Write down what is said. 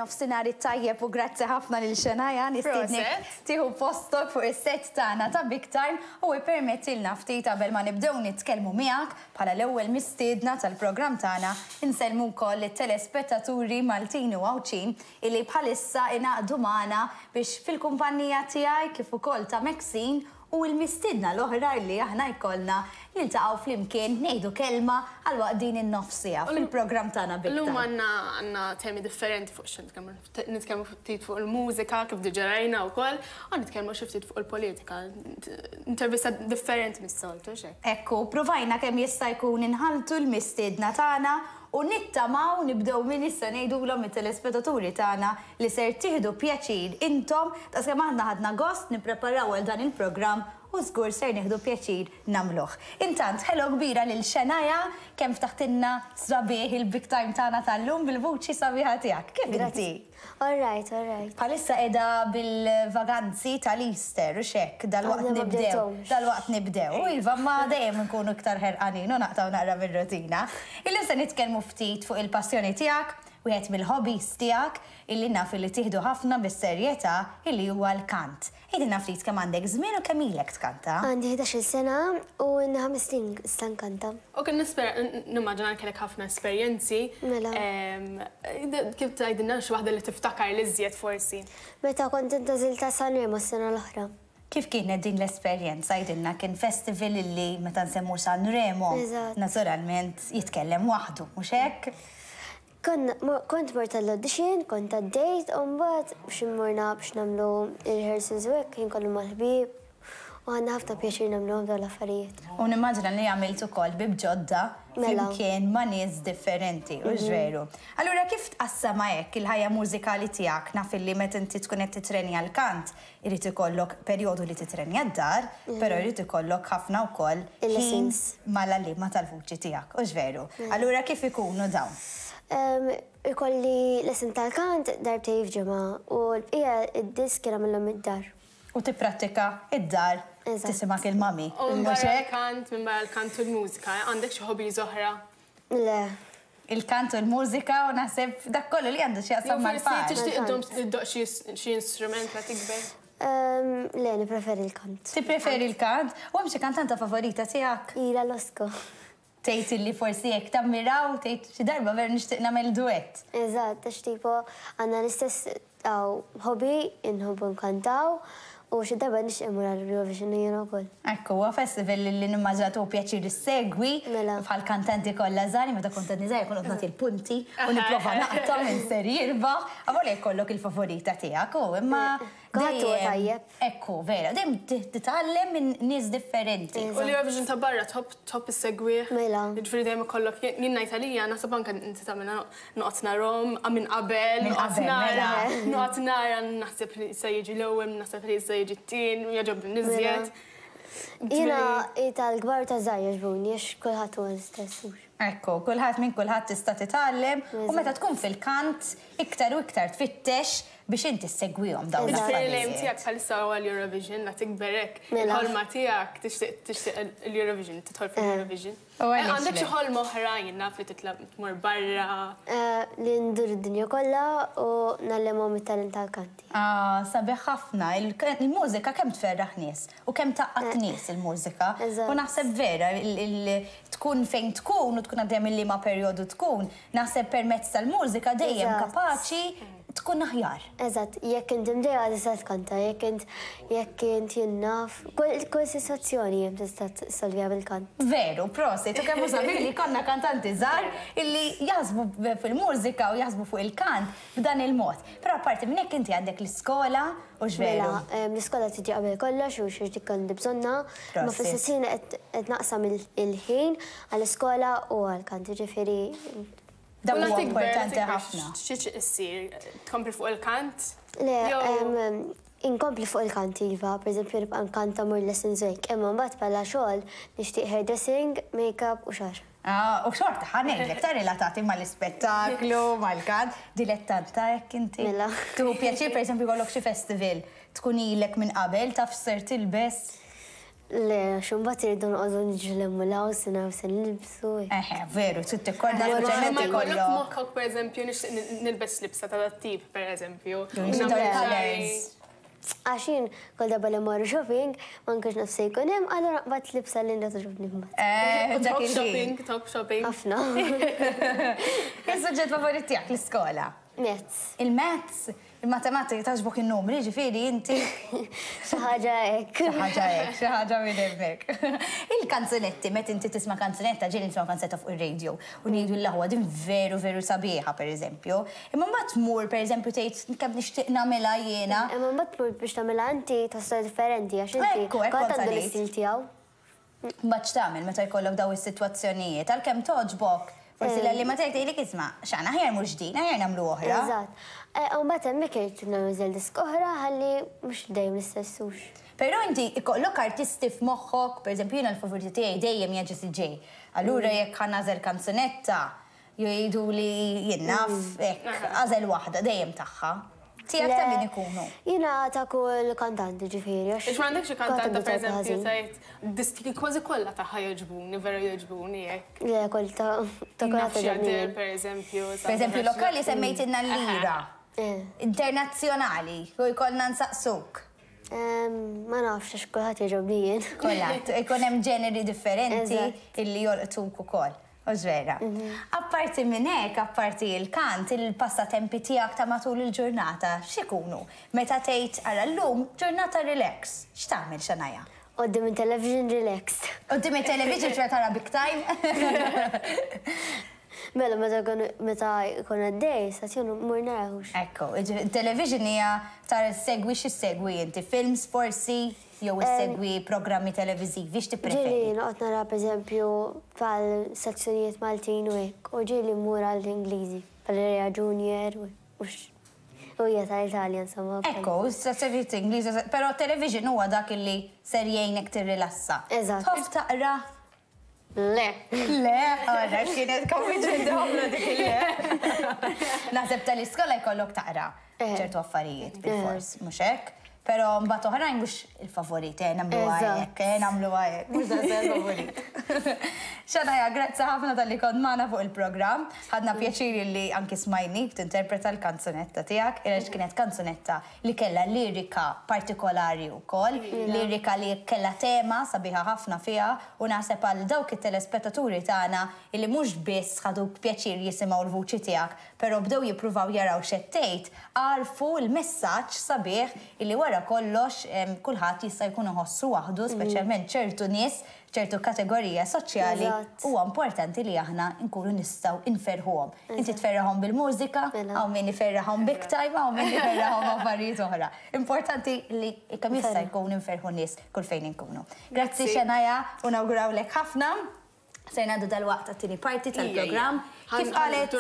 Nofsinhar it-tajjeb u grazzi ħafna lil Shania nistiednek tieħu postok fuq is-set tagħna ta' Big Time u ippermettilna ftit qabel ma nibdew nitkellmu miegħek bħala l-ewwel mistiedna tal-programm tagħna insellmu wkoll lit-telespettaturi Maltin u Għawdxin illi bħalissa ingħaqdu magħna biex fil-kumpanija tiegħi kif ukoll ta' Maxine u l-mistiedna l-oħra illi aħna jkollna niltaqgħu flimkien ngħidu kelma għal waqt din in-nofs siegħa fil-programm tagħna Big Illum Time. għandna għandna temi differenti fuq x'se nitkellmu. Nitkellmu ftit fuq il-mużika kif diġà rajna wkoll, u nitkellmu xi ftit fuq il-politika. Intervista differenti mis-soltu, hux hekk? Hekk hu, pruvajna kemm jista' jkun inħalltu l-mistiedna tagħna u nittamaw nibdew minn issa ngħidulhom it-telespetaturi tagħna li ser tieħdu pjaċir intom daqskemm aħna ħadna gost nippreparaw għal dan il-programm u żgur ser nieħdu pjaċir nagħmluh. Intant, hello kbira lil Shania kemm ftaħtilna sabiħ il-Big Time tagħna tal-lum bil-vuċi sabiħa tiegħek. Kif inti? All right, all right. Bħalissa qiegħda bil-vaganzi tal-Easter, hux hekk? Dalwaqt Għadna ma nibdew. bdejthomx. Dalwaqt nibdew. U iva, ma dejjem nkunu iktar ħerqanin u naqtgħu naqra mir-rutina. Illum se nitkellmu ftit fuq il-passjoni tiegħek, wieħed mill-hobbies tiegħek illi naf illi tieħdu ħafna bis-serjetà illi huwa l-kant. Għidilna ftit kemm għandek żmien u kemm ilek tkanta? Għandi 11-il sena u ilni ħames snin issa nkanta. U kien nispera, nimmaġina li kellek ħafna esperjenzi. Mela. Kif tgħidilna xi waħda li tiftakar l-iżjed forsi? Meta kont intgħażilt għal Sanremo s-sena l-oħra. Kif kienet din l-esperjenza? Għidilna, kien festival illi meta nsemmu Sanremo, naturalment jitkellem waħdu, mhux hekk? Konna, kont mort għall-audition, kont għaddejt u mbagħad biex immorna biex nagħmlu ir-rehearsals u hekk, kien kollu mal-ħbieb u ħadna ħafna pjaċir nagħmluhom dawn l-affarijiet. U nimmaġina li għamilt ukoll ħbieb ġodda flimkien ma' nies differenti, hux veru? Allura kif tqassamha hekk il-ħajja mużikali tiegħek? Naf illi meta inti tkun qed titrenja l-kant, Irid ikollok perjodu li titrenja d-dar, però jrid ikollok ħafna wkoll ħin mal-għalliema tal-vuċi tiegħek, hux veru? Allura kif ikunu dawn? Ikolli lesson tal-kant darbtejn f'ġimgħa u l-bqija id-diski nagħmilhom id-dar. U tipprattika id-dar tisimgħek il-mummy, U minbarra l-kant, minbarra l-kant u l-mużika, għandek xi hobbies oħra? Le. Il-kant u l-mużika u naħseb dak kollu li għandu x'jaqsam mal-far. Jew forsi tixtieq iddum iddoqq xi instrument meta tikber? Le, nippreferi l-kant. Tippreferi l-kant? U hemm xi kantanta favorita tiegħek? Ira Losco. Tgħid illi forsi hekk tammira u tgħid xi darba vera nixtieq nagħmel duett. Eżatt, għax tipo għandna l-istess hobby, inħobbu nkantaw u xi darba nixtieq immur għall-Eurovision jiena wkoll. Ekku, huwa festival li nimmaġina tieħu pjaċir issegwi bħal kantanti kollha żgħar, meta kont għadni żgħira kont noqgħod nagħti l-punti u nipprova naqta' min ser jirbaħ. Avolja jkollok il-favorita tiegħek hu, imma Kulħadd huwa tajjeb. Ekku, vera, dejjem titgħallem minn nies differenti. U l-Eurovision ta' barra tħobb tħobb issegwih? Mela. Jiġifieri dejjem ikollok, jien ngħid għalija naħseb anke inti tagħmilha Noqgħod narahom minn qabel, noqgħod nara, noqgħod nara naħseb li se jiġi l-ewwel, naħseb li se jiġi t-tieni, u jogħġobni l-iżjed. Jiena tal-kbar u taż-żgħar jogħġbuni għax kulħadd huwa l-istess hux. Ekku, kulħadd minn kulħadd tista' titgħallem u meta tkun fil-kant iktar u iktar tfittex biex inti ssegwihom dawn Ġifieri l-affarijiet. l-aim tiegħek bħalissa huwa l-Eurovision, la tikber hekk, il-ħolma tiegħek tixtieq tixtieq l-Eurovision, tidħol fil-Eurovision. Għandek xi ħolma oħra jien naf li titla' tmur barra? Li ndur id-dinja kollha u ngħallimhom it-talent tal-kanti. Ah, sabiħ ħafna. Il-mużika kemm tferraħ nies u kemm tgħaqqad nies il-mużika. U naħseb vera, tkun fejn tkun u tkun għaddejja minn liema perjodu tkun, naħseb permezz tal-mużika dejjem kapaċi tkun aħjar. Eżatt, jekk int imdejqa tista' tkanta, jekk int jekk int jien naf, kull kull sitwazzjoni hemm tista' ssolviha bil-kant. Veru, prosit, u kemm hu sabiħ li jkollna kantanti żgħar illi jaħsbu fil-mużika u jaħsbu fuq il-kant b'dan il-mod. Però apparti minn hekk inti għandek l-iskola, hux veru? Mela, l-iskola tiġi qabel kollox u xi dik għandi bżonnha, imma fl-istess ħin qed qed naqsam il-ħin għall-iskola u għall-kant, jiġifieri Dak huwa importanti ħafna. Xi tixtieq issir? Tkompli fuq il-kant? Le, inkompli fuq il-kant iva, pereżempju nibqa' nkanta mmur lessons u hekk, imma mbagħad bħala xogħol nixtieq hairdressing, makeup u xagħar. Ah, u xorta ħa ngħidlek ta' relatati mal-ispettaklu, mal-kant, dilettanta hekk inti. Mela. Tieħu pjaċir pereżempju jkollok xi festival, tkun ilek minn qabel taf x'ser tilbes? Le, għax imbagħad irridu noqogħdu niġru 'l hemm u 'l hawn se naraw se nilbsu. Eħe, veru, trid tikkordna speċjalment ikollok. Ma jkollok moħħok pereżempju nixtieq nilbes libsa ta' dat-tip pereżempju. Colours. Għax jien kull darba li mmorru shopping ma nkunx naf se jkun hemm, allura naqbad libsa li togħġobni mbagħad. Eh, dak Top il-ħin. shopping, top shopping. Ħafna. Is-suġġett favorit tiegħek l-iskola? Maths. Il-maths, il-matematika togħġbok in-numri, ġifieri inti. Xi ħaġa hekk. Xi ħaġa hekk, xi ħaġa minn hemmhekk. Il-kanzunetti, meta inti tisma' kanzunetta, ġieli nisma' kanzunetta fuq ir-radio u ngħidu l-aħwa din veru veru sabiħa pereżempju. Imma mbagħad tmur pereżempju tgħid kemm nixtieq nagħmilha jiena. Imma mbagħad tmur biex tagħmilha inti tħossha differenti għax inti Ekku, hekk kulħadd kont għandu għalejt. l-istil tiegħu. Mbagħad x'tagħmel meta jkollok daw is-sitwazzjonijiet, għalkemm togħġbok, forsi l-għalliema tiegħek tgħidlek isma' x'għandna aħjar mhux din, aħjar nagħmlu oħra. Eżatt. U mbagħad hemmhekk irid nagħżel disk oħra ħalli mhux dejjem l-istess hux. Però inti ikollok artisti f'moħħok, pereżempju jiena l-favoriti tiegħi dejjem hija Jessie J. Allura jekk ħa nagħżel kanzunetta, jgħidu li jien naf hekk, għażel waħda dejjem tagħha. Tiegħek ta' min ikunu? Jiena ta' kull kantanti ġifieri. Għax m'għandekx xi kantanta pereżempju tgħid diski kważi kollha tagħha jogħġbuni, vera jogħġbuni hekk. Le, kull ta' ta' kull Naf xi Adele pereżempju. Pereżempju lokali semmejtilna l-lira. Internazzjonali, u jkollna nsaqsuk. Ma nafx għax kulħadd jogħġobni jien. Kulħadd, ikun hemm ġeneri differenti illi jolqtuk ukoll. Hux vera? Apparti minn hekk, apparti l-kant, il-passatempi tiegħek ta' matul il-ġurnata x'ikunu? Meta tgħid ara llum ġurnata relax, x'tagħmel Shania? Quddiem it-television relaxed. Quddiem it-television ċe tara Big Time? Mela meta meta jkun għaddej, stazzjon mur narahux. Ekku, television hija tara segwi x'issegwi inti, films forsi jew issegwi programmi televiżivi, x'tippreferi? Ġieli noqgħod nara pereżempju bħal stazzjonijiet Maltin u hekk, u ġieli mmur għall-Ingliżi, bħal Rea Junior u u hija tal-Italja insomma. Ekku, stazzjonijiet Ingliżi, però television huwa dak illi ser jgħinek tirrilassa. Eżatt. Tħobb taqra? Le. Le, għara, kienet konvinċenti ħafna dik il-le. Naħseb tal-iskola jkollok taqra ċertu affarijiet bil-fors, mhux hekk? Però mbagħad oħrajn mhux il-favorit, nagħmlu hekk, nagħmlu hekk, mhux daqshekk il-favorit. Shania, grazzi ħafna talli kont magħna fuq il-programm. Ħadna pjaċir li anki smajnik tinterpreta l-kanzunetta tiegħek, għaliex kienet kanzunetta li kellha lirika partikolari wkoll, lirika li kellha tema sabiħa ħafna fiha u naħseb għal dawk it-telespettaturi tagħna illi mhux biss ħadu pjaċir jisimgħu l-vuċi tiegħek, però bdew jippruvaw jaraw x'qed tgħid, għarfu l-messaġġ sabiħ illi wara kollox kulħadd jista' jkun iħossu waħdu, speċjalment ċertu nies, ċertu kategorija soċjali, huwa importanti li aħna nkunu nistgħu inferħuhom. Inti tferraħhom bil-mużika, hawn min iferraħhom big time, hawn min iferraħhom affarijiet oħra. Importanti li kemm jista' jkun inferħu nies kull fejn inkunu. Grazzi Shania, u nawgurawlek ħafna. Se ngħaddu dalwaqt għat-tieni parti tal-programm. Kif qalet